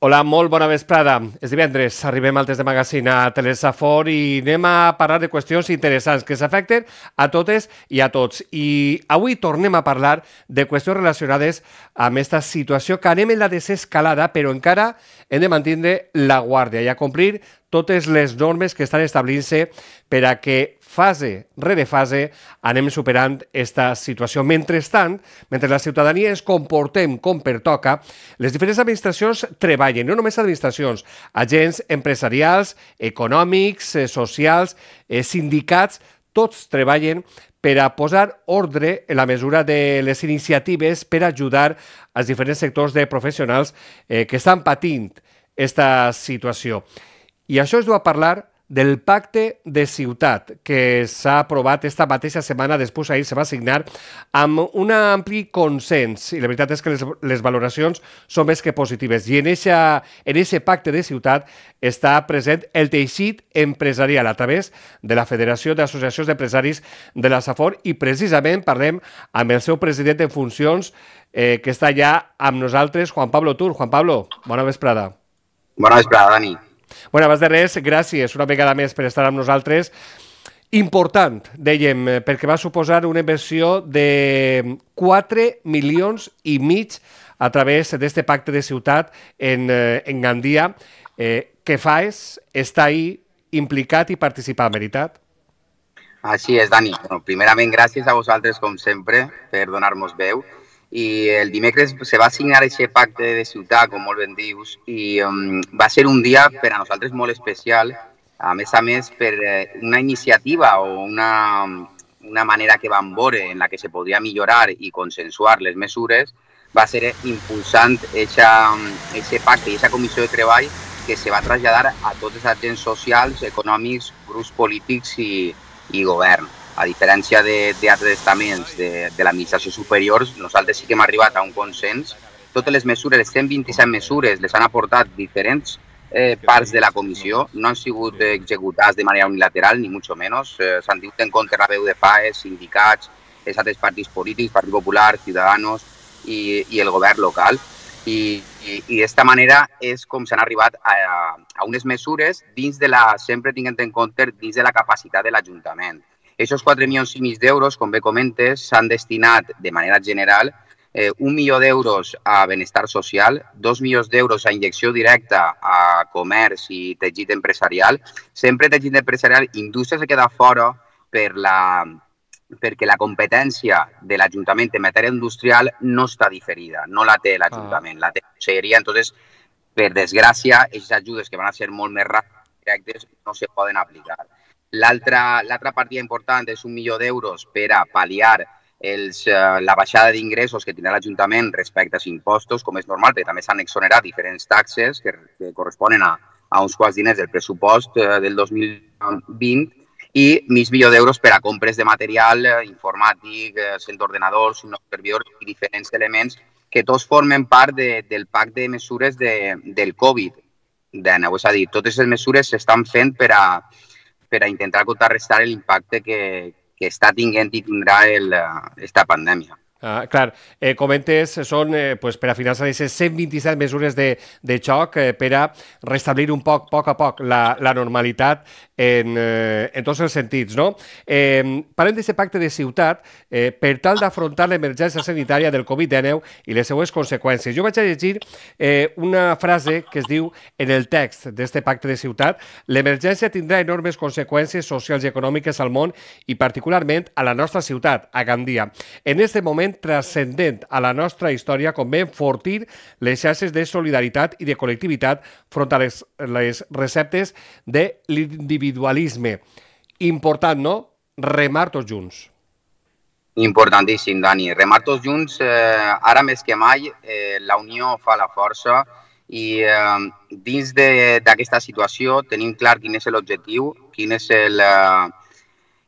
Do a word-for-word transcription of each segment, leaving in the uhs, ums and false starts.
Hola, molt bona vesprada. És divendres, arribem al Test de Magazine a Telesafor i anem a parlar de qüestions interessants que s'afecten a totes i a tots. I avui tornem a parlar de qüestions relacionades amb aquesta situació que anem en la desescalada, però encara hem de mantenir la guàrdia i a complir totes les normes que estan establint-se per a que fase rere fase anem superant aquesta situació. Mentrestant, mentre la ciutadania ens comportem com pertoca, les diferents administracions treballen, no només administracions, agents empresarials, econòmics, eh, socials, eh, sindicats, tots treballen per a posar ordre en la mesura de les iniciatives per ajudar als diferents sectors de professionals eh, que estan patint aquesta situació. I això es du a parlar del pacte de ciutat que s'ha aprovat esta mateixa setmana, després ahir se va signar amb un ampli consens i la veritat és que les, les valoracions són més que positives i en aquest pacte de ciutat està present el teixit empresarial a través de la Federació d'Associacions d'Empresaris de la Safor i precisament parlem amb el seu president en funcions eh, que està ja amb nosaltres, Juan Pablo Tur. Juan Pablo, bona vesprada. Bona vesprada, Dani. Bueno, abans de res, gràcies una vegada més per estar amb nosaltres. Important, dèiem, perquè va suposar una inversió de quatre milions i mig a través d'aquest pacte de ciutat en, en Gandia. Eh, què fas? Està ahí implicat i participar, veritat? Així és, Dani. Bueno, primerament, gràcies a vosaltres, com sempre, per donar-nos veu. I el dimecres se va signar aquest pacte de ciutat, com molt ben dius, i um, va ser un dia per a nosaltres molt especial, a més a més per una iniciativa o una, una manera que vam veure en la que se podria millorar i consensuar les mesures, va ser impulsant aquest pacte i aquesta comissió de treball que se va traslladar a tots els agents socials, econòmics, grups polítics i, i govern. A diferència d'altres estaments de, de l'administració superior, nosaltres sí que hem arribat a un consens. Totes les mesures, les cent vint-i-set mesures, les han aportat diferents eh, parts de la comissió. No han sigut executades de manera unilateral, ni mucho menos. Eh, S'han tingut en compte la veu de F A E, sindicats, els altres partits polítics, Partit Popular, Ciudadanos i, i el govern local. I, i, i d'esta manera és com s'han arribat a, a unes mesures dins de la, sempre tinguent en compte, dins de la capacitat de l'Ajuntament. Aquests quatre milions i mig d'euros, com bé comentes, s'han destinat de manera general eh, un milió d'euros a benestar social, dos milions d'euros a injecció directa a comerç i teixit empresarial. Sempre teixit empresarial, indústria se queda fora per la, perquè la competència de l'Ajuntament en matèria industrial no està diferida, no la té l'Ajuntament, la té la Conselleria. Entonces, per desgràcia, aquestes ajudes que van a ser molt més ràpides directes no se poden aplicar. L'altra partida important és un milió d'euros per a pal·liar els, uh, la baixada d'ingressos que tindrà l'Ajuntament respecte als impostos, com és normal, perquè també s'han exonerat diferents taxes que, que corresponen a, a uns quants diners del pressupost uh, del dos mil vint i mig milió d'euros per a compres de material uh, informàtic, uh, cent ordenadors, un nou servidor i diferents elements que tots formen part de, del pacte de mesures de, del Covid. És a dir, totes les mesures s'estan fent per a per a intentar contrarrestar l'impacte que, que està tinguent i tindrà aquesta pandèmia. Ah, clar, eh, comentes, són eh, pues, per a finançar aquestes cent vint-i-set mesures de, de xoc eh, per a restablir un poc, poc a poc la, la normalitat en, eh, en tots els sentits, no? Eh, parlem d'aquest pacte de ciutat eh, per tal d'afrontar l'emergència sanitària del Covid dinou i les seues conseqüències. Jo vaig a llegir eh, una frase que es diu en el text d'aquest pacte de ciutat: l'emergència tindrà enormes conseqüències socials i econòmiques al món i particularment a la nostra ciutat, a Gandia. En aquest moment transcendent a la nostra història convé enfortir les xarxes de solidaritat i de col·lectivitat front a les, les receptes de l'individualisme. Important, no? Remar tots junts. Importantíssim, Dani. Remar tots junts, eh, ara més que mai, eh, la unió fa la força i eh, dins d'aquesta situació tenim clar quin és l'objectiu, quin és el... Eh,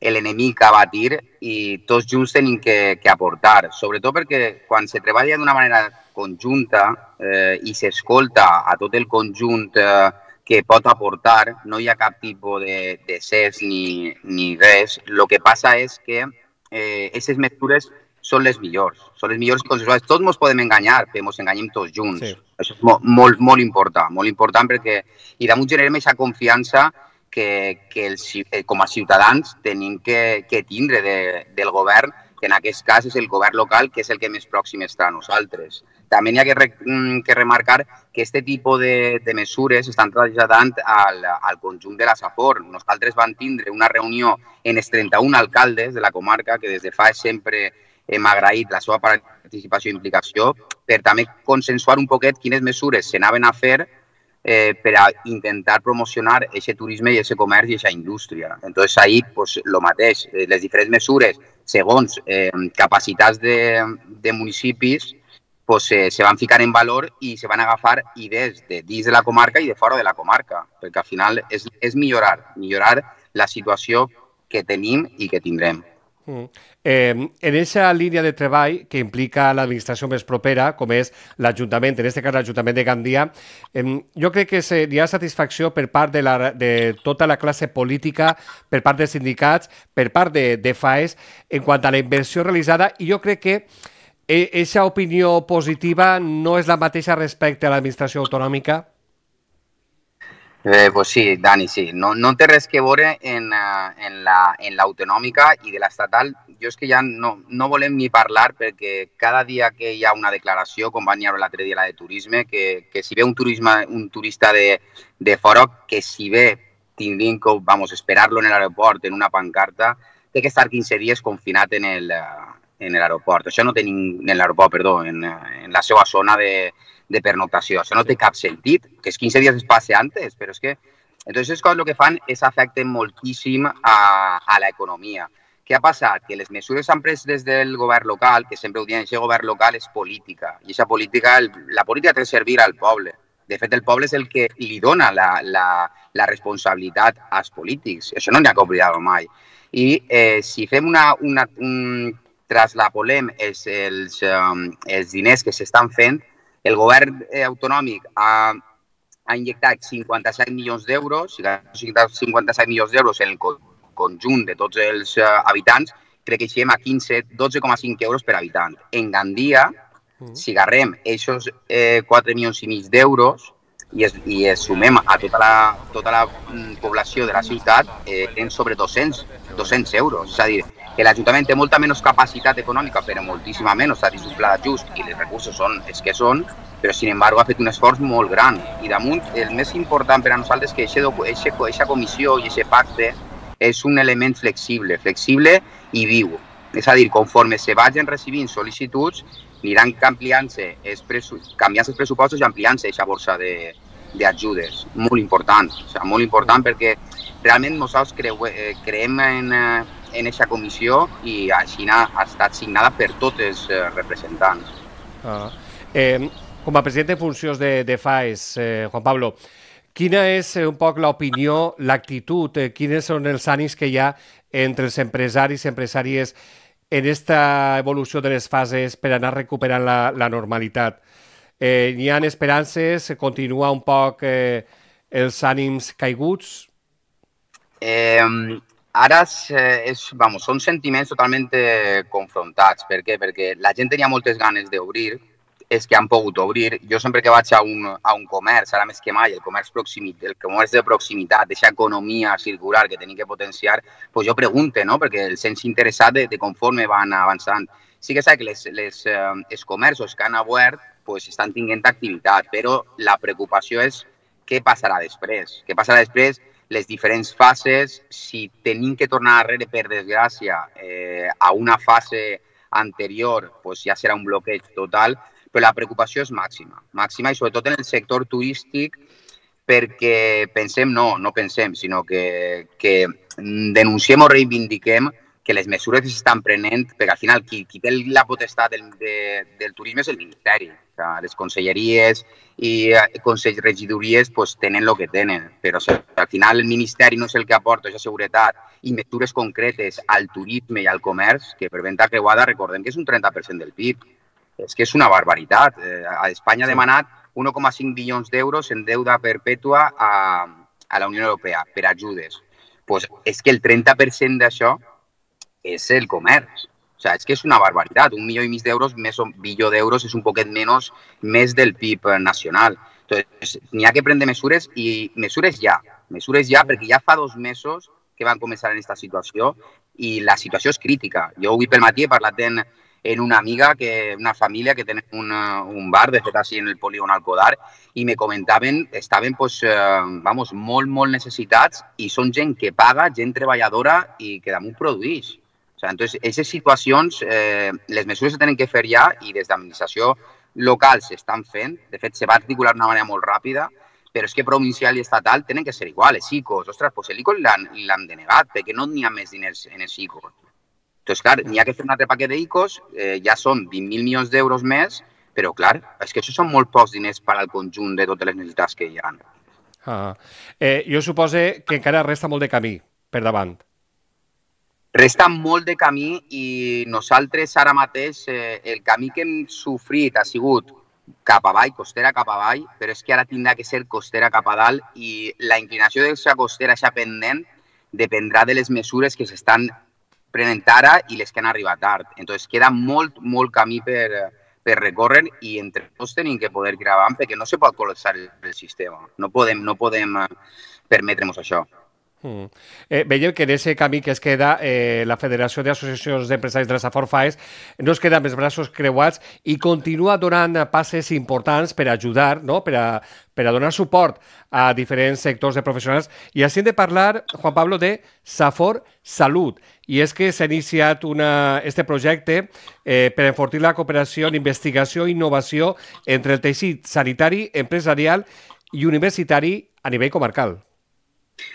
l'enemic a batir i tots junts tenim que, que aportar, sobretot perquè quan se treballa d'una manera conjunta eh, i s'escolta a tot el conjunt eh, que pot aportar, no hi ha cap tipus de, de cés ni, ni res. El que passa és que aquestes eh, mesures són les millors, són les millors i consensuades. Tots ens podem enganyar, però ens enganyem tots junts. Sí. Això és molt, molt, molt important, molt important perquè i damunt generem aquesta confiança que, que els, com a ciutadans tenim que, que tindre de, del govern, que en aquest cas és el govern local, que és el que més pròxim està a nosaltres. També hi ha que, re, que remarcar que aquest tipus de, de mesures estan traslladant al, al conjunt de la Safor. Nosaltres vam tindre una reunió en els trenta-un alcaldes de la comarca, que des de fa sempre hem agraït la seva participació i implicació, per també consensuar un poquet quines mesures s'anaven a fer eh, per a intentar promocionar aquest turisme i aquest comerç i aquesta indústria. Entonces, ahí, pues, lo mateix, les diferents mesures, segons eh, capacitats de, de municipis, pues, eh, se van ficar en valor i se van agafar idees de dins de la comarca i de fora de la comarca, perquè al final és, és millorar, millorar la situació que tenim i que tindrem. Mm. Eh, en aquesta línia de treball que implica l'administració més propera, com és l'Ajuntament, en aquest cas l'Ajuntament de Gandia, eh, jo crec que hi ha satisfacció per part de, la, de tota la classe política, per part dels sindicats, per part de, de FAES, en quant a la inversió realitzada, i jo crec que aquesta opinió positiva no és la mateixa respecte a l'administració autonòmica? Eh, pues sí, Dani, sí. No, no té res que veure en, en l'autonòmica la, i de l'estatal. Jo és que ja no, no volem ni parlar perquè cada dia que hi ha una declaració, com van dir l'altre dia la de turisme, que, que si ve un, turisme, un turista de, de fora, que si ve tindrien que vamos, esperar-lo en l'aeroport en una pancarta, té que estar quinze dies confinat en el, en l'aeroport. Això no té en l'aeroport, perdó, en, en la seva zona de, de pernoctació. Això no té cap sentit, que els quinze dies es passe antes, però és que... Entonces, les coses el que fan és afecten moltíssim a, a l'economia. Què ha passat? Que les mesures s'han pres des del govern local, que sempre ho diuen, aquest govern local és política, i aquesta política, la política té que servir al poble. De fet, el poble és el que li dona la, la, la responsabilitat als polítics. Això no n'hi ha que oblidar-ho mai. I eh, si fem una... una un, traslapolem els, els, um, els diners que s'estan fent, el govern eh, autonòmic ha, ha injectat cinquanta-set milions d'euros, cinquanta-set milions d'euros en el conjunt de tots els uh, habitants, crec que així a quinze, dotze coma cinc euros per habitant. En Gandia, mm. si agarrem aquests eh, quatre milions i mig d'euros i, es, i es sumem a tota la, tota la mm, població de la ciutat, eh, en sobre doscents euros. És a dir, que l'Ajuntament té molta menys capacitat econòmica, però moltíssima menys, està dins un pla d'ajust i els recursos són els que són, però, sin embargo, ha fet un esforç molt gran. I damunt, el més important per a nosaltres és que aquesta comissió i aquest pacte és un element flexible, flexible i viu. És a dir, conforme se vagin recibint sol·licituds, aniran canviant-se els, canviant els pressupostos i ampliant-se aquesta borsa d'ajudes. Molt important, o sigui, molt important perquè realment nosaltres creu, eh, creiem en, en aquesta comissió i així ha estat signada per tots els representants. Ah. Eh, com a president en funcions de, de FAES, eh, Juan Pablo, quina és un poc l'opinió, l'actitud, eh, quins són els ànims que hi ha entre els empresaris i empresàries en aquesta evolució de les fases per anar recuperant la, la normalitat? Eh, hi ha esperances? Continua un poc eh, els ànims caiguts? Eh, ara és, és, vamos, són sentiments totalment confrontats. Per què? Perquè la gent tenia moltes ganes d'obrir, és que han pogut obrir. Jo sempre que vaig a un, a un comerç, ara més que mai, el comerç, el comerç de proximitat, d'aquesta economia circular que tenim que potenciar, pues jo pregunto, no? Perquè el sens interessat de, de conforme van avançant. Sí que és que les, les, eh, els comerços que han obert pues, estan tinguent activitat, però la preocupació és què passarà després. Què passarà després, les diferents fases, si tenim que tornar darrere, per desgràcia, eh, a una fase anterior, pues ja serà un bloqueig total, però la preocupació és màxima, màxima i sobretot en el sector turístic perquè pensem, no, no pensem, sinó que, que denunciem o reivindiquem que les mesures que s'estan prenent, perquè al final qui, qui té la potestat del, de, del turisme és el Ministeri. O sigui, les conselleries i regidories pues, tenen el que tenen, però o sigui, al final el Ministeri no és el que aporta aquesta seguretat i mesures concretes al turisme i al comerç, que per venda creuada recordem que és un trenta per cent del P I B. És que és una barbaritat. Eh, Espanya ha demanat un coma cinc bilions d'euros en deuda perpètua a, a la Unió Europea per ajudes. Pues és que el trenta per cent d'això és el comerç. O O sea, és que és una barbaritat. Un milió i mig d'euros, més un bilió d'euros, és un poquet menys més del P I B nacional. Entonces, n'hi ha que prendre mesures i mesures ja. Mesures ja, perquè ja fa dos mesos que van començar en aquesta situació i la situació és crítica. Jo avui pel matí he parlat en, en una amiga, que, una família que tenen un, un bar, de fet, així en el polígon Alcodar, i me comentaven, estaven pues, eh, vamos, molt, molt necessitats i són gent que paga, gent treballadora i que damunt produeix. O sea, entonces, aquestes situacions, eh, les mesures se tenen que fer ja i des d'administració local s'estan fent. De fet, se va articular d'una manera molt ràpida, però és que provincial i estatal tenen que ser igual. Els I C Os, ostres, doncs l'I C O l'han denegat, perquè no n'hi ha més diners en els I C Os. Entonces, clar, n'hi ha que fer un altre paquet d'I C Os, eh, ja són vint mil milions d'euros més, però, clar, és que això són molt pocs diners per al conjunt de totes les necessitats que hi ha. Ah. Eh, jo supose que encara resta molt de camí per davant. Resta molt de camí i nosaltres ara mateix eh, el camí que hem sofrit ha sigut cap avall, costera cap avall, però és que ara tindrà que ser costera cap a dalt i la inclinació d'aquesta costera, aquesta pendent, dependrà de les mesures que s'estan prenent ara i les que han arribat tard. Entonces queda molt, molt camí per, per recórrer i entre tots tenim que poder crear avant perquè no se pot col·lapsar el, el sistema. No podem, no podem permetre'ns això. Mm. Eh, veiem que en aquest camí que es queda eh, la Federació d'Associacions d'Empresaris de la Safor Faes no es queda amb els braços creuats i continua donant passes importants per ajudar, no? per, a, per a donar suport a diferents sectors de professionals. I així hem de parlar, Juan Pablo, de Safor Salut. I és que s'ha iniciat una, este projecte eh, per enfortir la cooperació en investigació i innovació entre el teixit sanitari, empresarial i universitari a nivell comarcal.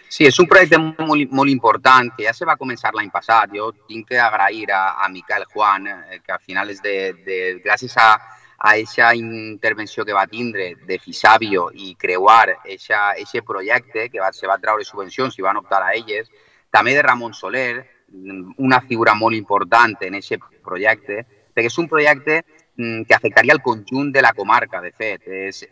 Sí, és un projecte molt, molt important que ja se va començar l'any passat. Jo tinc que agrair a, a Miquel Juan, eh, que al final és de, de gràcies a a aquesta intervenció que va tindre de Fisabio i creuar aquest projecte, que va, se va treure subvencions i van optar a elles, també de Ramon Soler, una figura molt important en aquest projecte, perquè és un projecte que afectaria el conjunt de la comarca, de fet. És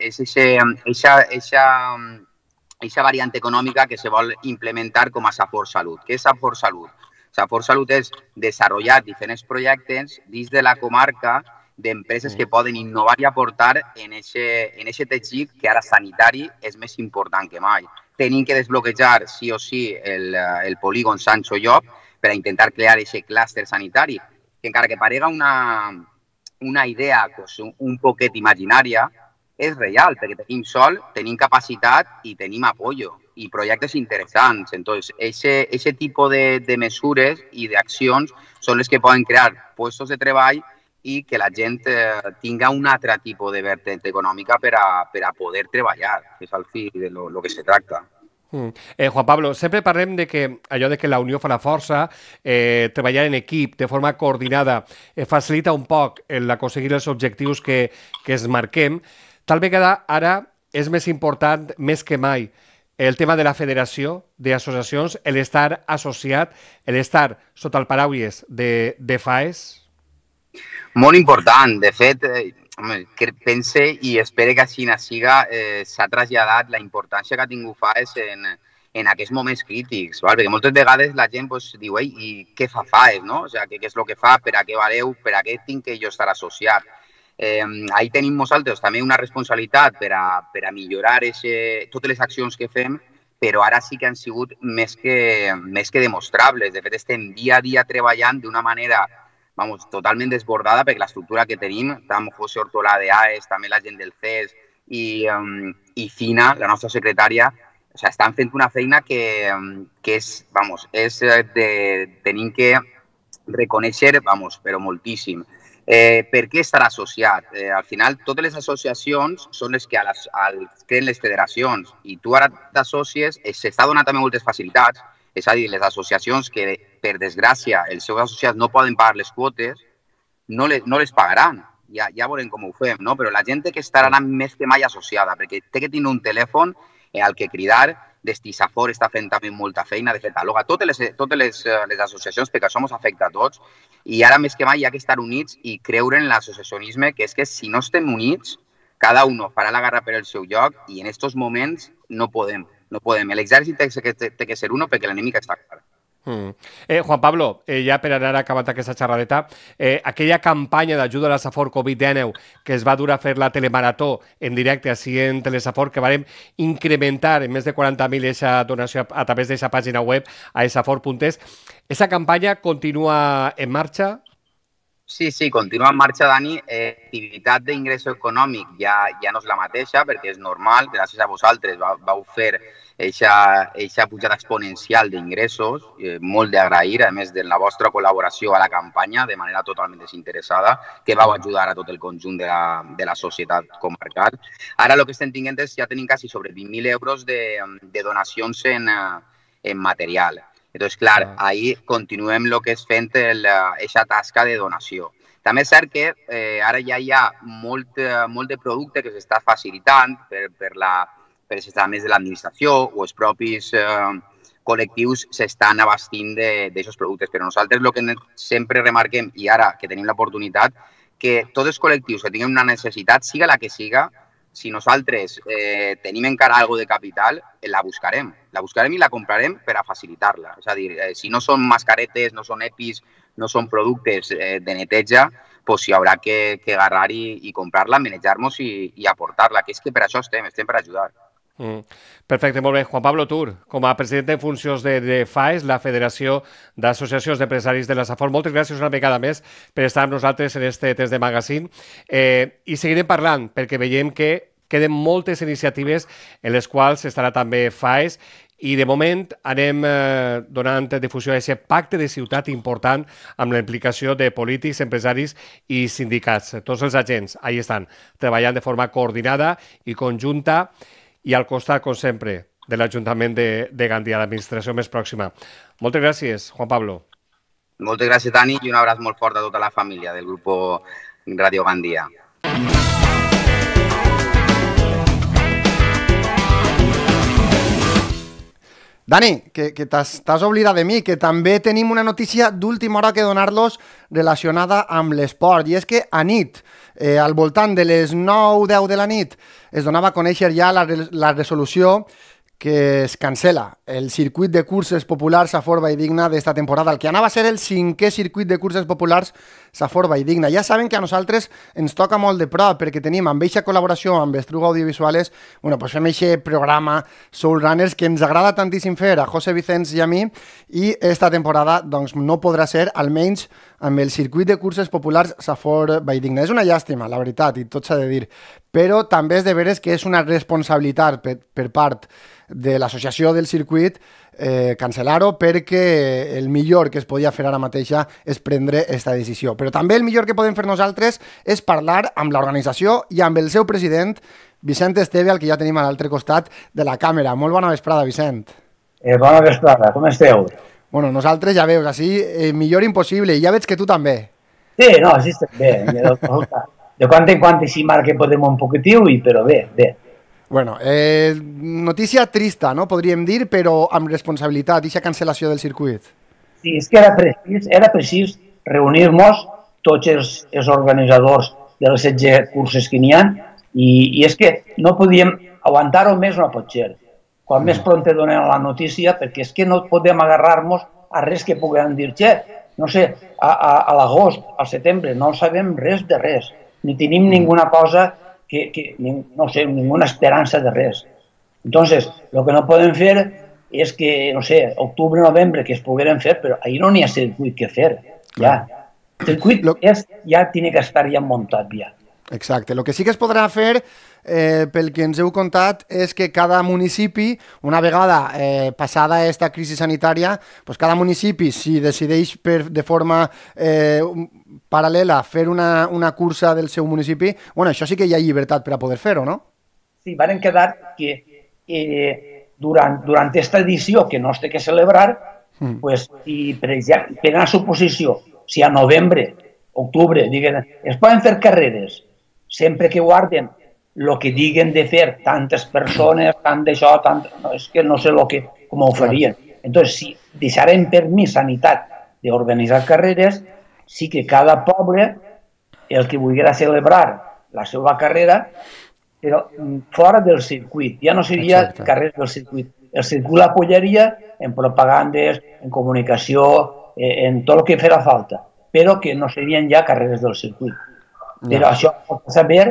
aquesta variant econòmica que se vol implementar com a Safor Salut. Què és Safor Salut? Safor Salut és desenvolupar diferents projectes dins de la comarca d'empreses que poden innovar i aportar en aquest teixit que ara sanitari és més important que mai. Tenim que desbloquejar sí o sí el, el polígon Sancho Llop per a intentar crear aquest clúster sanitari, que encara que parega una, una idea pues, un poquet imaginària, és real, perquè tenim sol, tenim capacitat i tenim apoyo i projectes interessants. Entonces, ese, ese tipo de, de mesures i d'accions són les que poden crear puestos de treball i que la gent eh, tinga un altre tipus de vertent econòmica per a, per a poder treballar, que és al fi de lo, lo que se tracta. Mm. Eh, Juan Pablo, sempre parlem de que allò de que la unió fa la força, eh, treballar en equip de forma coordinada eh, facilita un poc l'aconseguir els objectius que, que es marquem. Tal vegada ara és més important, més que mai, el tema de la federació d'associacions, l'estar associat, l'estar sota el paraules de, de Faes? Molt important. De fet, eh, que pense i espero que així siga, eh, s'ha traslladat la importància que ha tingut Faes en, en aquests moments crítics, val? Perquè moltes vegades la gent pues, diu, ei, i què fa Faes, no? O sea, què, què és el que fa, per a què valeu, per a què tinc que jo estar associat. Eh, ahí tenim nosaltres també una responsabilitat per a, per a millorar ese, totes les accions que fem, però ara sí que han sigut més que, més que demostrables. De fet, estem dia a dia treballant d'una manera vamos, totalment desbordada perquè l'estructura que tenim, tant José Ortolà de A E S, també la gent del C E S i, um, i Fina, la nostra secretària, o sea, estan fent una feina que, que és, vamos, és de, tenim que reconèixer, vamos, però moltíssim. Eh, per què estar associat? Eh, al final, totes les associacions són les que a les, a les creen les federacions i tu ara t'associes, s'està donant també moltes facilitats, és a dir, les associacions que, per desgràcia, els seus associats no poden pagar les quotes, no les, no les pagaran. Ja, ja veurem com ho fem, no? Però la gent té que estar ara més que mai associada, perquè té que tenir un telèfon al que cridar. Destisafor està fent també molta feina, de fet, aloga totes les, totes les, les associacions, perquè això ens afecta a tots, i ara més que mai hi ha que estar units i creure en l'associacionisme, que és que si no estem units, cada un farà la guerra per el seu lloc i en aquests moments no podem. No podem. L'exèrcit té, té, té que ser uno perquè l'enemic està clar. Mm. Eh, Juan Pablo, eh, ja per anar acabant aquesta xerradeta, eh, aquella campanya d'ajuda a la Safor Covid dinou que es va dur a fer la telemarató en directe així en Telesafor, que varem incrementar en més de quaranta mil aquesta donació a, a través d'aquesta pàgina web a esafor punt es, ¿esa campanya continua en marxa? Sí, sí, continua en marxa, Dani. Eh, activitat d'ingresso econòmic ja, ja no és la mateixa, perquè és normal, gràcies a vosaltres vau, vau fer aquesta pujada exponencial d'ingressos, eh, molt d'agrair, a més de la vostra col·laboració a la campanya, de manera totalment desinteressada, que vau ajudar a tot el conjunt de la, de la societat comarcal. Ara el que estem tinguent és, ja tenim quasi sobre vint mil euros de, de donacions en, en material. Entonces, clar, ahí continuem el que és fent aquesta tasca de donació. També és cert que eh, ara ja hi ha molt, molt de producte que s'està facilitant per, per, la, per a més de l'administració o els propis eh, col·lectius s'estan abastint d'aquests productes. Però nosaltres el que sempre remarquem, i ara que tenim l'oportunitat, que tots els col·lectius que tinguin una necessitat, siga la que siga, si nosaltres eh, tenim encara alguna de capital, la buscarem. La buscarem i la comprarem per a facilitar-la. És a dir, eh, si no són mascaretes, no són EPIs, no són productes eh, de neteja, pues hi haurà que, que agarrar i, i comprar-la, manejar-nos i, i aportar-la, que és que per això estem, estem per ajudar. Mm. Perfecte, molt bé. Juan Pablo Tur, com a president en funcions de, de FAES, la Federació d'Associacions d'Empresaris de la Safor, moltes gràcies una vegada més per estar amb nosaltres en este test de magazine. Eh, I seguirem parlant, perquè veiem que queden moltes iniciatives en les quals estarà també FAES i de moment anem eh, donant difusió a aquest pacte de ciutat important amb la implicació de polítics, empresaris i sindicats. Tots els agents ahí estan treballant de forma coordinada i conjunta i al costat, com sempre, de l'Ajuntament de, de Gandia, l'administració més pròxima. Moltes gràcies, Juan Pablo. Moltes gràcies, Dani, i un abraç molt fort a tota la família del grup Radio Gandia. Dani, que, que t'has oblidat de mi, que també tenim una notícia d'última hora que donar-los relacionada amb l'esport. I és que a nit, eh, al voltant de les nou deu de la nit, es donava a conèixer ja la, la resolució que es cancela el circuit de curses populars Safor Valldigna d'esta temporada, el que anava a ser el cinquè circuit de curses populars Safor Valldigna. Ja saben que a nosaltres ens toca molt de prop, perquè tenim amb eixa col·laboració amb Estruga Audiovisuales, bueno, pues fem eixe programa Soul Runners que ens agrada tantíssim fer a José Vicens i a mi, i esta temporada doncs, no podrà ser, almenys amb el circuit de curses populars Safor Valldigna. És una llàstima, la veritat, i tot s'ha de dir, però també és de veres que és una responsabilitat per, per part de l'associació del circuit eh, cancel·lar-ho, perquè el millor que es podia fer ara mateixa és prendre aquesta decisió. Però també el millor que podem fer nosaltres és parlar amb l'organització i amb el seu president, Vicent Esteve, al que ja tenim a l'altre costat de la càmera. Molt bona vesprada, Vicent. Eh, bona vesprada, com esteu? Bueno, nosaltres ja veus, així eh, millor impossible, i ja veig que tu també. Sí, no, així estem bé. De quan en quan així marca podem un poquitiu, i, però bé, bé. Bueno, eh, notícia trista, no? Podríem dir, però amb responsabilitat, aquesta cancel·lació del circuit. Sí, és que era precís, era precís reunir-nos tots els, els organitzadors de les setze curses que n'hi ha, i, i és que no podíem aguantar-ho més, no pot ser. Quan mm. més pront donem la notícia, perquè és que no podem agarrar-nos a res que puguem dir, che, no sé, a, a, a l'agost, al setembre, no sabem res de res, ni tenim mm. ninguna cosa Que, que, no sé, ninguna esperança de res. Entonces, lo que no podem fer és que, no sé, octubre, novembre, que es pogueren fer, però ahí no n'hi ha circuit que fer, ja. El circuit lo... és, ja tiene que estar ja muntat, ja. Exacte. El que sí que es podrà fer, eh, pel que ens heu contat, és que cada municipi, una vegada eh, passada aquesta crisi sanitària, pues cada municipi, si decideix per, de forma eh, paral·lela fer una, una cursa del seu municipi, bueno, això sí que hi ha llibertat per a poder fer-ho, no? Sí, varen quedar que eh, durant, durant aquesta edició que no es té que celebrar, mm. pues, i per, per a suposició, si a novembre, octubre, diguen, es poden fer carreres, sempre que guarden el que diguen de fer tantes persones, tant d'això, tant... No, és que no sé lo que, com ho farien. Entonces, si deixarem per mi sanitat d'organitzar carreres, sí que cada poble, el que volguera celebrar la seva carrera, però fora del circuit, ja no seria carreres del circuit. El circuit l'apoyaria en propagandes, en comunicació, en tot el que farà falta, però que no serien ja carreres del circuit. Però això pot saber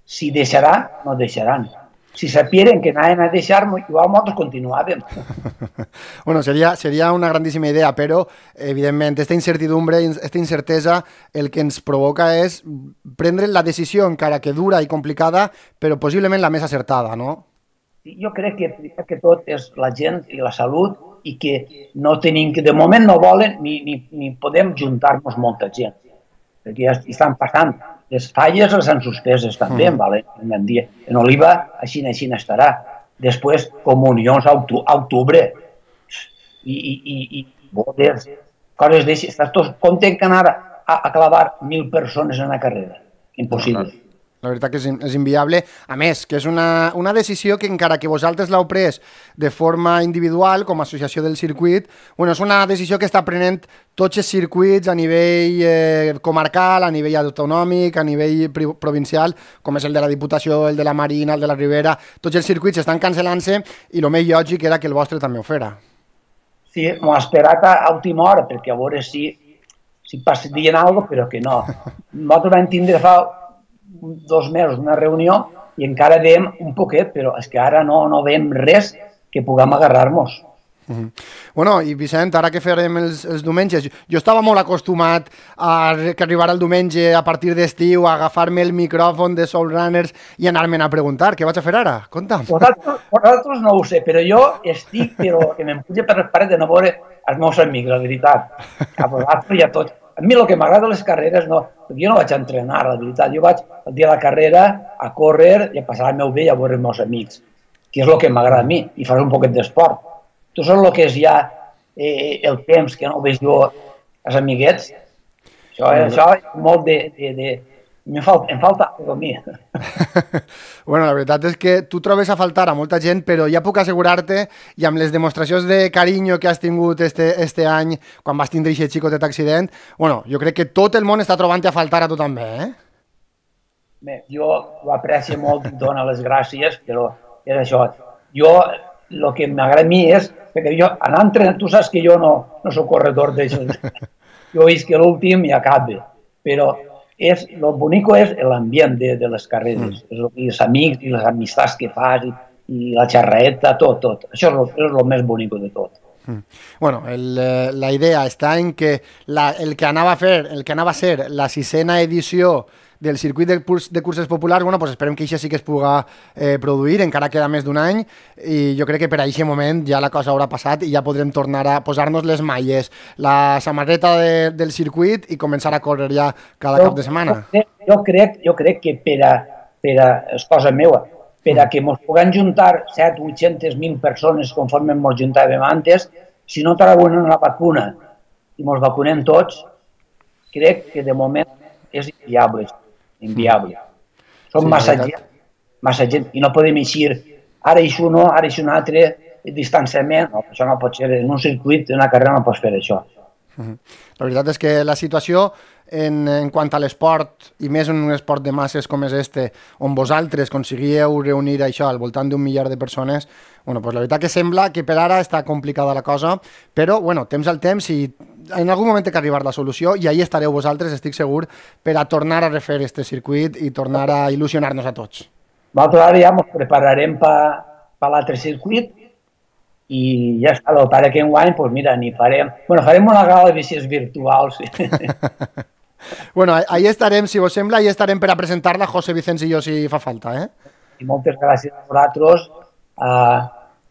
si deixarà o no deixaran. Si sapieren que anaven a deixar, igual nosaltres continuàvem. Bueno, seria, seria una grandíssima idea, però, evidentment, aquesta incertidumbre, aquesta incertesa, el que ens provoca és prendre la decisió, encara que dura i complicada, però possiblement la més acertada, no? Jo crec que, que tot és la gent i la salut i que no tenim, que de moment no volen ni, ni, ni podem juntar-nos molta gent, perquè ja estan passant. Les falles les han suspeses també, mm. vale? en, dia. En Oliva així així estarà. Després, comunions a octubre i, i, i, i bodes, coses d'això. Estàs tots content que anar a, a clavar mil persones en la carrera. Impossible. La veritat que és, és inviable. A més, que és una, una decisió que encara que vosaltres l'heu pres de forma individual, com a associació del circuit, bueno, és una decisió que està prenent tots els circuits a nivell eh, comarcal, a nivell autonòmic, a nivell provincial, com és el de la Diputació, el de la Marina, el de la Ribera. Tots els circuits estan cancel·lant-se i el més lògic era que el vostre també ho fera. Sí, m'ho ha esperat a última hora, perquè a veure si, si passaria alguna cosa, però que no. Nosaltres vam tindre fa dos mesos una reunió i encara veiem un poquet, però és que ara no, no veiem res que puguem agarrar-nos. Uh-huh. Bueno, i Vicent, ara que farem els, els diumenges, jo estava molt acostumat a que arribara el diumenge a partir d'estiu, a agafar-me el micròfon de Soul Runners i anar-me'n a preguntar. Què vaig a fer ara? Conta'm. Vosaltres, vosaltres no ho sé, però jo estic, però que me'n puja per les parets de no veure els meus amics, la veritat. A vosaltres i a tots. A mi el que m'agrada les carreres, no, jo no vaig a entrenar, la veritat. Jo vaig el dia de la carrera a córrer i a passar el meu bé i a veure els meus amics, que és el que m'agrada a mi, i fer un poquet d'esport. Tu saps el que és ja eh, el temps que no veig jo els amiguets? Això, eh, això és molt de... de, de... Em falta, em falta a mi. Bueno, la veritat és que tu trobes a faltar a molta gent, però ja puc assegurar-te, i amb les demostracions de carinyo que has tingut este, este any, quan vas tindre aquest xicotet accident, bueno, jo crec que tot el món està trobant a faltar a tu també, eh? Bé, jo ho aprecio molt i dono les gràcies, però és això. Jo, el que m'agrada a mi és, perquè jo, anar entrenant, tu saps que jo no, no soc corredor d'això. Jo veig que l'últim ja acaba, però és, el bonic és l'ambient de, de les carreres, mm. i els amics i les amistats que fas, i, i la xerraeta, tot, tot. Això és el, és el més bonic de tot. Mm. Bueno, el, la idea està en que la, el que anava a fer, el que anava a ser la sisena edició del circuit de, de curses populars, bueno, pues esperem que això sí que es puga eh, produir, encara queda més d'un any, i jo crec que per a aquest moment ja la cosa haurà passat i ja podrem tornar a posar-nos les malles, la samarreta de, del circuit i començar a córrer ja cada jo, cap de setmana. Jo crec, jo crec que per a, per a, és cosa meva, per a que ens puguem juntar set, vuit-centes mil persones conforme ens juntàvem antes, si no trauen la vacuna i ens vacunem tots, crec que de moment és inviable. inviable. Som sí, massa gent, massa gent, i no podem eixir ara eix un, ara eix un altre, distanciament, no, això no pot ser, en un circuit, en una carrera no pots fer això. La veritat és que la situació en, en quant a l'esport, i més en un esport de masses com és este, on vosaltres aconseguíeu reunir això al voltant d'un miliar de persones, bueno, pues la veritat que sembla que per ara està complicada la cosa, però bueno, temps al temps i en algun moment té que arribar la solució i ahí estareu vosaltres, estic segur, per a tornar a refer este circuit i tornar a il·lusionar-nos a tots. Nosaltres ara ja ens prepararem per pa l'altre circuit i ja està, el pare que enguany, doncs mira, ni farem... Bueno, farem una gala de bicis virtuals. Bueno, ahí estarem, si vos sembla, ahí estarem per a presentar-la, José Vicens i jo, si fa falta, eh? I moltes gràcies a vosaltres, a,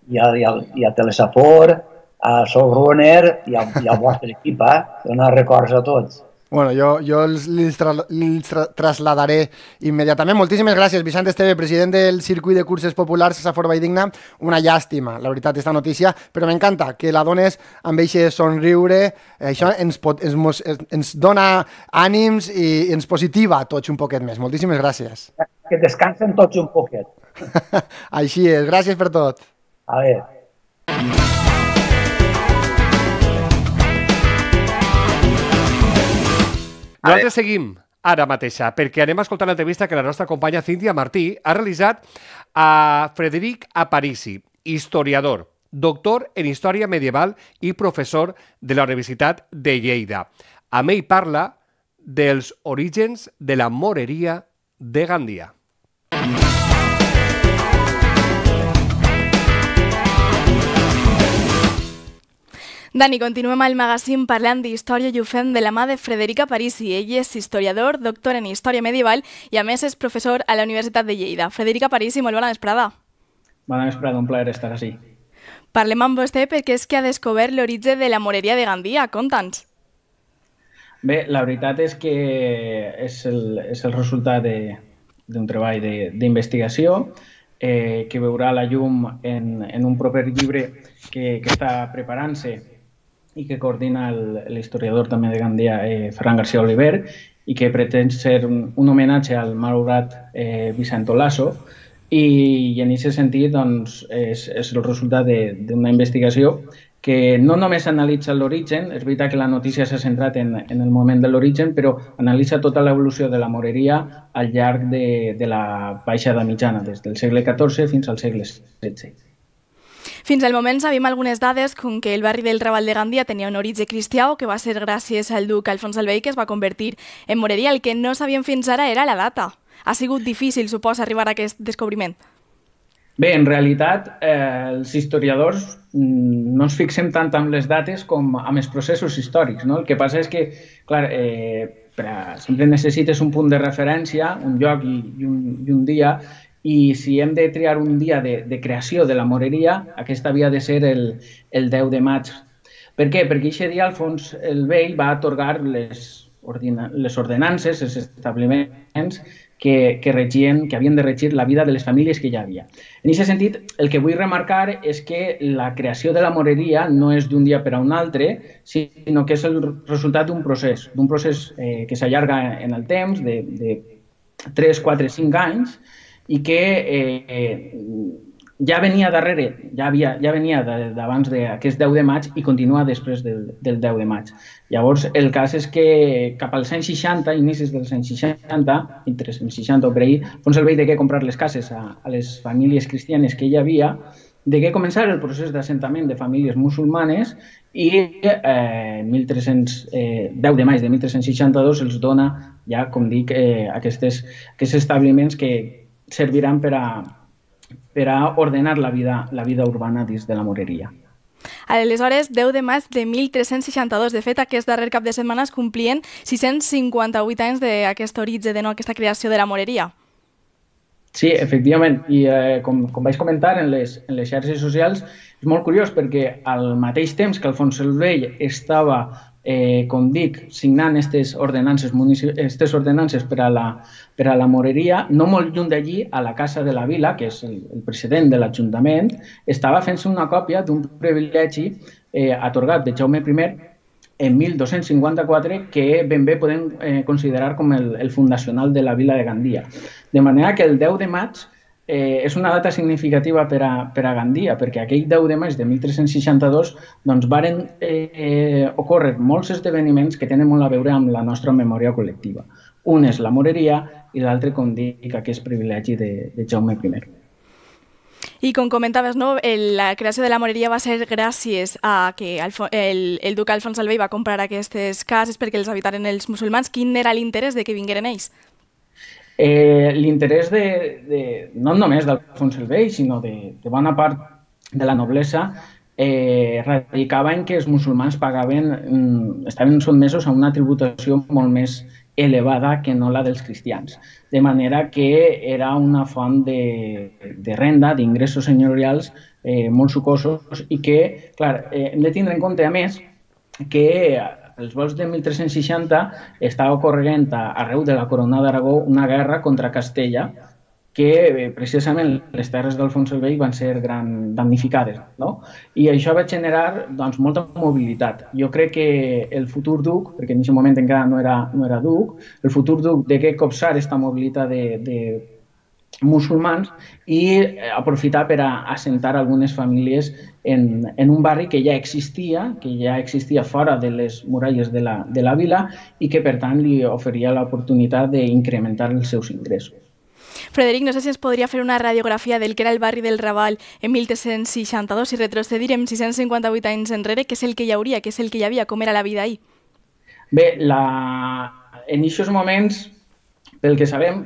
i, a, i, a, i a Telesafor, a Soul Runner i, a, i al vostre equip, eh? Donar records a tots. Bueno, jo, jo els, els, tra els tra trasladaré immediatament. Moltíssimes gràcies, Vicent Esteve, president del Circuit de Curses Populars Safor Valldigna. Una llàstima, la veritat, aquesta notícia, però m'encanta que la dones amb aquest somriure. Això ens, pot, ens, ens dona ànims i ens positiva tots un poquet més. Moltíssimes gràcies. Que descansen tots un poquet. Així és, gràcies per tot. A veure. Nosaltres seguim ara mateixa, perquè anem a escoltar l'entrevista que la nostra companya Cíntia Martí ha realitzat a Frederic Aparici, historiador, doctor en Història Medieval i professor de la Universitat de Lleida. Amb ell parla dels orígens de la moreria de Gandia. Dani, continuem al magazín parlant d'història i ho fem de la mà de Frederica Parisi. Ell és historiador, doctor en Història Medieval i a més és professor a la Universitat de Lleida. Frederica Parisi, molt bona vesprada. Bona vesprada, un plaer estar així. Parlem amb vostè perquè és que ha descobert l'origen de la moreria de Gandia. Conta'ns. Bé, la veritat és que és el, és el resultat d'un treball d'investigació eh, que veurà la llum en, en un proper llibre que, que està preparant-se i que coordina l'historiador també de Gandia, eh, Ferran García Oliver, i que pretén ser un, un homenatge al malaurat eh, Vicent Olaso, i, i en aquest sentit doncs, és, és el resultat d'una investigació que no només analitza l'origen, és veritat que la notícia s'ha centrat en, en el moment de l'origen, però analitza tota l'evolució de la moreria al llarg de, de la baixada mitjana, des del segle catorze fins al segle setze. Fins al moment sabem algunes dades com que el barri del Raval de Gandia tenia un origen cristià o que va ser gràcies al duc Alfons el Vell que es va convertir en moreria. El que no sabíem fins ara era la data. Ha sigut difícil, suposa, arribar a aquest descobriment. Bé, en realitat, eh, els historiadors no ens fixem tant amb les dates com amb els processos històrics, no? El que passa és que, clar, eh, per a, sempre necessites un punt de referència, un lloc i, i, un, i un dia, i si hem de triar un dia de, de creació de la moreria, aquest havia de ser el, el deu de maig. Per què? Perquè aquest dia Alfons el Vell va atorgar les, ordina, les ordenances, els establiments que, que, regien, que havien de regir la vida de les famílies que hi havia. En aquest sentit, el que vull remarcar és que la creació de la moreria no és d'un dia per a un altre, sinó que és el resultat d'un procés, d'un procés eh, que s'allarga en el temps, de, de tres, quatre, cinc anys, i que eh, eh, ja venia darrere, ja, havia, ja venia d'abans d'aquest deu de maig i continua després del, del deu de maig. Llavors, el cas és que cap als anys seixanta, inicis dels anys seixanta, entre els anys seixanta o per ahir, Alfons el Vell degué comprar les cases a, a les famílies cristianes que hi havia, degué començar el procés d'assentament de famílies musulmanes i eh, mil tres-cents deu de maig de mil tres-cents seixanta-dos els dona ja, com dic, eh, aquestes, aquests establiments que serviran per a, per a ordenar la vida, la vida urbana dins de la moreria. Aleshores, deu de maig de mil tres-cents seixanta-dos. De fet, aquest darrer cap de setmana es complien sis-cents cinquanta-vuit anys d'aquest origen, de no, aquesta creació de la moreria. Sí, efectivament. I eh, com, com vaig comentar en les, en les xarxes socials, és molt curiós perquè al mateix temps que Alfons el Vell estava Eh, com dic, signant aquestes ordenances, aquestes ordenances per a, la, per a la moreria, no molt lluny d'allí, a la Casa de la Vila, que és el, el president de l'Ajuntament, estava fent-se una còpia d'un privilegi eh, atorgat de Jaume primer en mil dos-cents cinquanta-quatre que ben bé podem eh, considerar com el, el fundacional de la vila de Gandia. De manera que el deu de maig Eh, és una data significativa per a, per a Gandia, perquè aquell deu de maig de mil tres-cents seixanta-dos doncs, varen eh, eh, ocórrer molts esdeveniments que tenen molt a veure amb la nostra memòria col·lectiva. Un és la moreria i l'altre, com dic, aquest privilegi de, de Jaume primer. I com comentaves, no, el, la creació de la moreria va ser gràcies a que el, el, el duc Alfons el Vell va comprar aquestes cases perquè els habitaren els musulmans. Quin era l'interès de que vingueren ells? Eh, L'interès de, de, no només d'Alfons el Vell, sinó de, de bona part de la noblesa, eh, radicava en que els musulmans pagaven, mm, estaven sotmesos a una tributació molt més elevada que no la dels cristians. De manera que era una font de, de renda, d'ingressos senyorials eh, molt sucosos i que, clar, eh, hem de tindre en compte, a més, que els vols de mil tres-cents seixanta estava ocorrent arreu de la Corona d'Aragó una guerra contra Castella que precisament les terres d'Alfons el Vell van ser gran damnificades, no? I això va generar doncs, molta mobilitat. Jo crec que el futur duc, perquè en aquest moment encara no era, no era duc, el futur duc degué copsar aquesta mobilitat de, de musulmans i aprofitar per a assentar algunes famílies en, en un barri que ja existia, que ja existia fora de les muralles de la, de la vila i que, per tant, li oferia l'oportunitat d'incrementar els seus ingressos. Frederic, no sé si ens podria fer una radiografia del que era el barri del Raval en mil tres-cents seixanta-dos i retrocedir en sis-cents cinquanta-vuit anys enrere, què és el que hi hauria, què és el que hi havia, com era la vida ahir? Bé, la... en aquests moments, pel que sabem,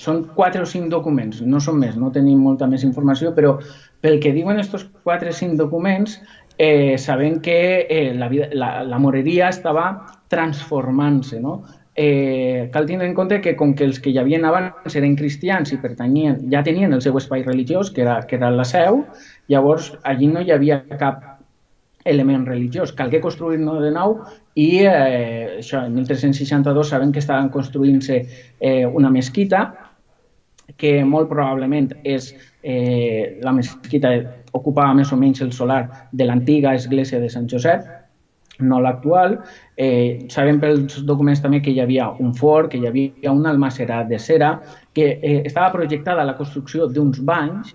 són quatre o cinc documents, no són més, no tenim molta més informació, però pel que diuen aquests quatre o cinc documents, eh, sabem que eh, la, vida, la, la moreria estava transformant-se, no? Eh, cal tenir en compte que com que els que hi havien abans eren cristians i pertanyien, ja tenien el seu espai religiós, que era, que era la seu, llavors allí no hi havia cap element religiós. Calgué construir-ne de nou i eh, això, en mil tres-cents seixanta-dos sabem que estaven construint-se eh, una mesquita que molt probablement és eh, la mesquita ocupava més o menys el solar de l'antiga església de Sant Josep, no l'actual. Eh, sabem pels documents també que hi havia un forn, que hi havia un almacerat de cera, que eh, estava projectada la construcció d'uns banys,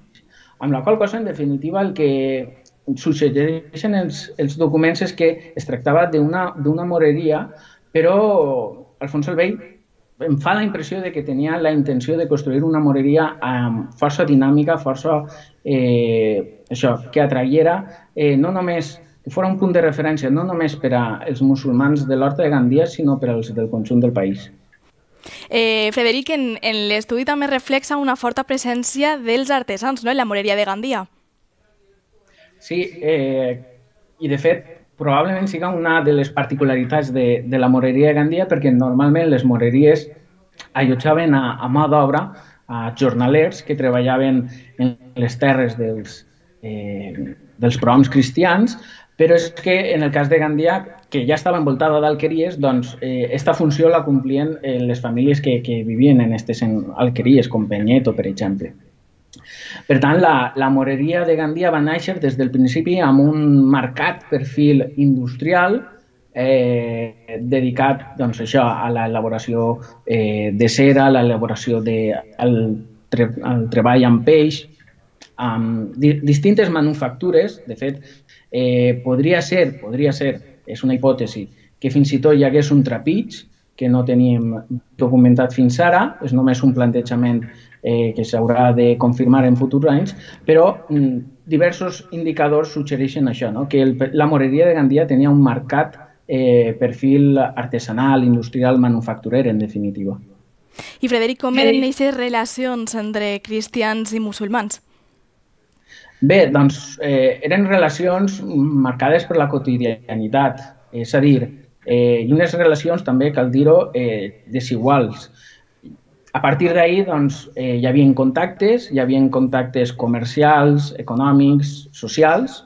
amb la qual cosa, en definitiva, el que suggereixen els, els documents és que es tractava d'una moreria, però Alfons el Vell em fa la impressió de que tenia la intenció de construir una moreria amb força dinàmica, força eh, això, que atraiera eh, no només que fos un punt de referència no només per als musulmans de l'Horta de Gandia, sinó per als del conjunt del país. Eh, Frederic, en, en l'estudi també reflexa una forta presència dels artesans, no?, en la moreria de Gandia. Sí, eh, i de fet, probablement siga una de les particularitats de, de la moreria de Gandia, perquè normalment les moreries allotjaven a, a mà d'obra a jornalers que treballaven en les terres dels, eh, dels prohoms cristians, però és que en el cas de Gandia, que ja estava envoltada d'alqueries, doncs eh, esta funció la complien eh, les famílies que, que vivien en aquestes alqueries, com Penyeto, per exemple. Per tant, la, la moreria de Gandia va néixer des del principi amb un marcat perfil industrial eh, dedicat doncs, això, a l'elaboració eh, de cera, a l'elaboració del tre, treball amb peix, amb di, distintes manufactures. De fet, eh, podria ser, podria ser, és una hipòtesi, que fins i tot hi hagués un trapig que no teníem documentat fins ara, és només un plantejament eh, que s'haurà de confirmar en futurs anys, però mm, diversos indicadors suggereixen això, no? Que el, la moreria de Gandia tenia un marcat eh, perfil artesanal, industrial, manufacturer, en definitiva. I Frederic, com eren aquestes relacions entre cristians i musulmans? Bé, doncs eh, eren relacions marcades per la quotidianitat, és a dir, eh, i unes relacions també, cal dir-ho, eh, desiguals. A partir d'ahir doncs, eh, hi havia contactes, hi havia contactes comercials, econòmics, socials,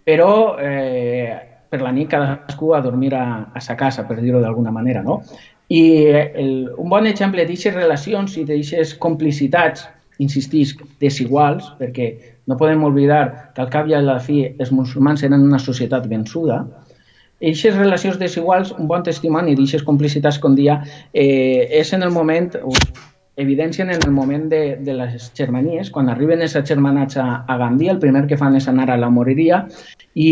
però eh, per la nit cadascú a dormir a, a sa casa, per dir-ho d'alguna manera, no? I el, un bon exemple d'aquestes relacions i d'aquestes complicitats, insistisc, desiguals, perquè no podem oblidar que al cap i a la fi els musulmans eren una societat vençuda. Aquestes relacions desiguals, un bon testimoni d'aquestes complicitats, com dia, eh, és en el moment, evidencien en el moment de, de les germanies, quan arriben els germanats a, a Gandia, el primer que fan és anar a la moreria, i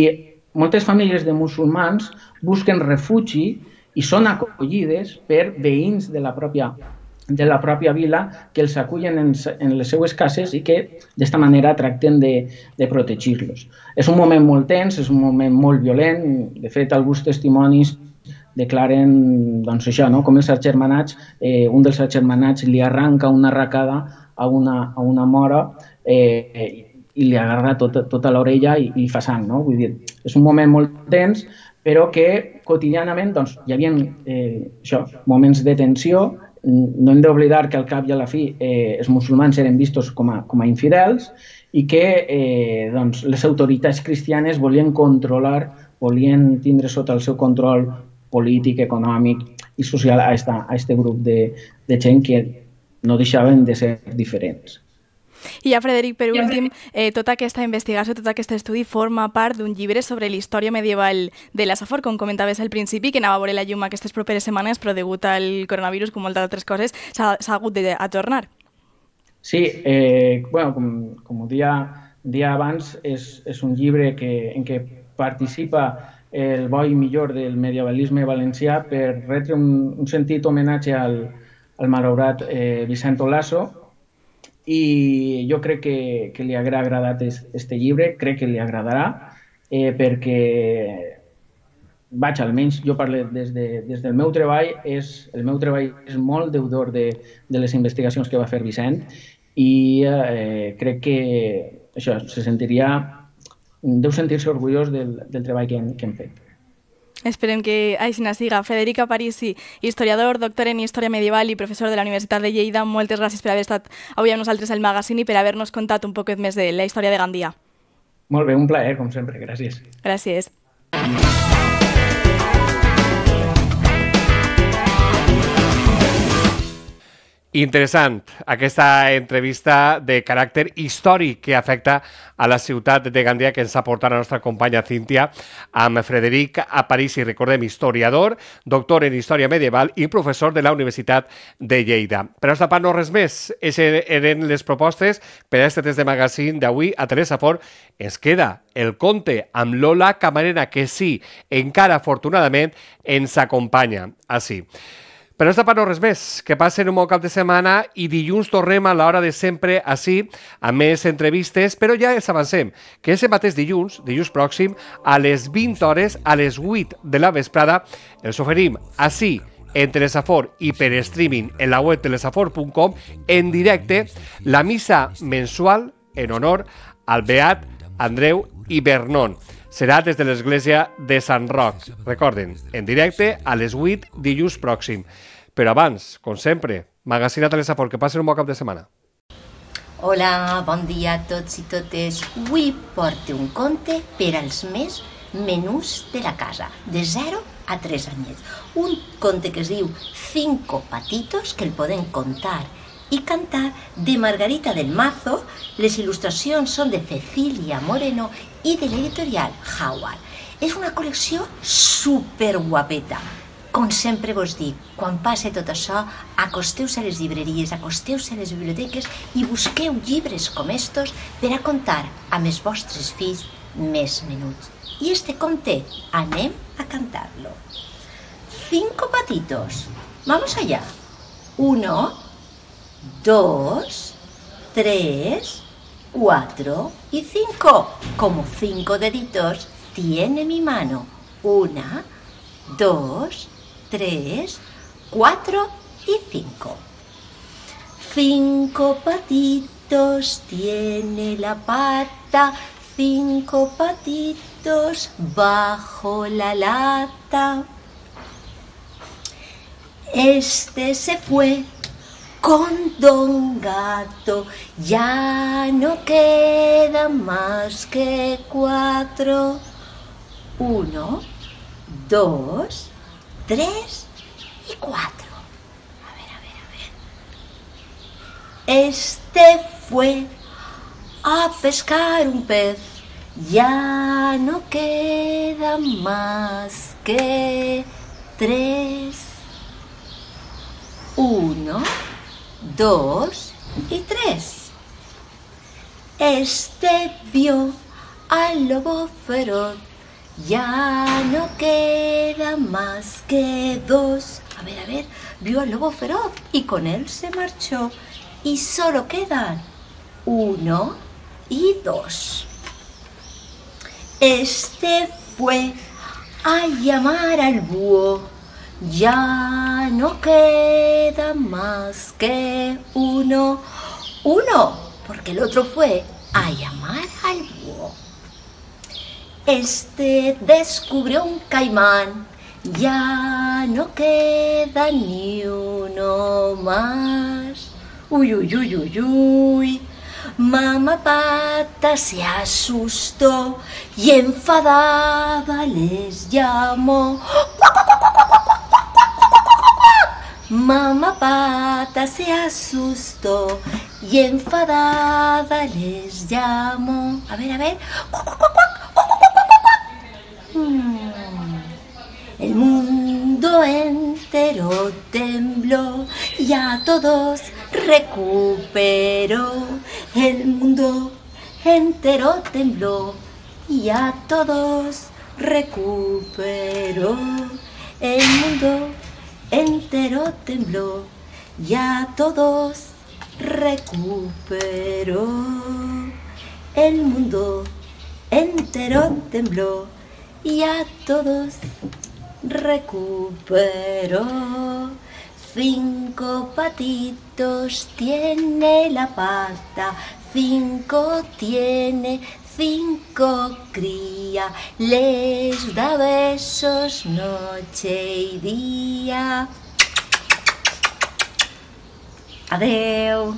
moltes famílies de musulmans busquen refugi i són acollides per veïns de la pròpia de la pròpia vila que els acullen en, en les seues cases i que d'esta manera tracten de, de protegir-los. És un moment molt tens, és un moment molt violent. De fet, alguns testimonis declaren doncs, això, no? Com els agermanats, eh, un dels agermanats li arranca una arracada a una, a una mora eh, i li agarra tota, tota l'orella i, i fa sang. No? Vull dir, és un moment molt tens, però que quotidianament doncs, hi havia eh, això, moments de tensió. No hem d'oblidar que al cap i a la fi eh, els musulmans eren vistos com a, com a infidels i que eh, doncs, les autoritats cristianes volien controlar, volien tindre sota el seu control polític, econòmic i social a aquest grup de, de gent que no deixaven de ser diferents. I ja, Frederic, per últim, eh, tota aquesta investigació, tot aquest estudi forma part d'un llibre sobre la història medieval de la Safor, com comentaves al principi, que anava a veure la llum aquestes properes setmanes, però degut al coronavirus, com moltes altres coses, s'ha hagut d'ajornar. Sí, eh, bueno, com, com ho dia, dia abans, és, és un llibre que, en què participa el bo i millor del medievalisme valencià per retre un, un sentit homenatge al, al malaurat eh, Vicent Olaso, i jo crec que, que li ha agradat este llibre, crec que li agradarà, eh, perquè, vaig, almenys jo parlo des, de, des del meu treball, és, el meu treball és molt deudor de, de les investigacions que va fer Vicent i eh, crec que això, se sentiria, deu sentir-se orgullós del, del treball que hem, que hem fet. Esperem que així siga. Frederic Aparici, historiador, doctor en Història Medieval i professor de la Universitat de Lleida, moltes gràcies per haver estat avui amb nosaltres al magazine i per haver-nos contat un poquet més de la història de Gandia. Molt bé, un plaer, com sempre. Gràcies. Gràcies. Interessant, aquesta entrevista de caràcter històric que afecta a la ciutat de Gandia que ens ha portat la nostra companya Cíntia amb Frederic Aparici, recordem, historiador, doctor en Història Medieval i professor de la Universitat de Lleida. Per a nostra part, no res més. Aquestes eren les propostes per a aquest test de magazine d'avui a Teresa Fort. Ens queda el conte amb Lola Camarena, que sí, encara afortunadament ens acompanya. Així. Per nostra part no res més, que passen un bon cap de setmana i dilluns tornem a l'hora de sempre així, amb més entrevistes, però ja els avancem, que aquest mateix dilluns, dilluns pròxim, a les vint hores, a les vuit de la vesprada, els oferim així, en Telesafort i per streaming en la web telesafort punt com, en directe, la missa mensual en honor al beat Andreu i Vernon. Serà des de l'església de Sant Roc. Recorden, en directe a les vuit dilluns pròxim. Però abans, com sempre, magazine a Telesafort, que passen un bon cap de setmana. Hola, bon dia a tots i totes. Avui porto un conte per als més menús de la casa, de zero a tres anyets. Un conte que es diu Cinco patitos, que el podem contar i cantar, de Margarita del Mazo. Les il·lustracions són de Cecilia Moreno i de l'editorial Howard. És una col·lecció superguapeta. Com sempre vos dic, quan passe tot això, acosteu-se a les llibreries, acosteu-se a les biblioteques i busqueu llibres com estos per a contar amb els vostres fills més menuts. I este conte, anem a cantar-lo. Cinco patitos. Vamos allá. Uno, dos, tres, cuatro y cinco. Como cinco deditos tiene mi mano. Una, dos, tres, cuatro y cinco. Cinco patitos tiene la pata, cinco patitos bajo la lata. Este se fue con Don Gato, ya no queda más que cuatro. Uno, dos, tres y cuatro. A ver, a ver, a ver. Este fue a pescar un pez, ya no queda más que tres. Uno, dos y tres. Este vio al lobo feroz, ya no queda más que dos. A ver, a ver, vio al lobo feroz y con él se marchó. Y solo quedan uno y dos. Este fue a llamar al búho, ya no queda más que uno. Uno, porque el otro fue a llamar al búho. Este descubrió un caimán, ya no queda ni uno más. Uy, uy, uy, uy, uy. Mamá Pata se asustó y enfadada les llamó. Mamá Pata se asustó y enfadada les llamó. A ver, a ver. El mundo entero tembló y a todos recuperó. El mundo entero tembló y a todos recuperó. El mundo entero tembló y a todos recuperó. El mundo entero tembló y a todos recuperó. Cinco patitos tiene la pata, cinco tiene, cinco cría, les da besos noche y día. Adeu.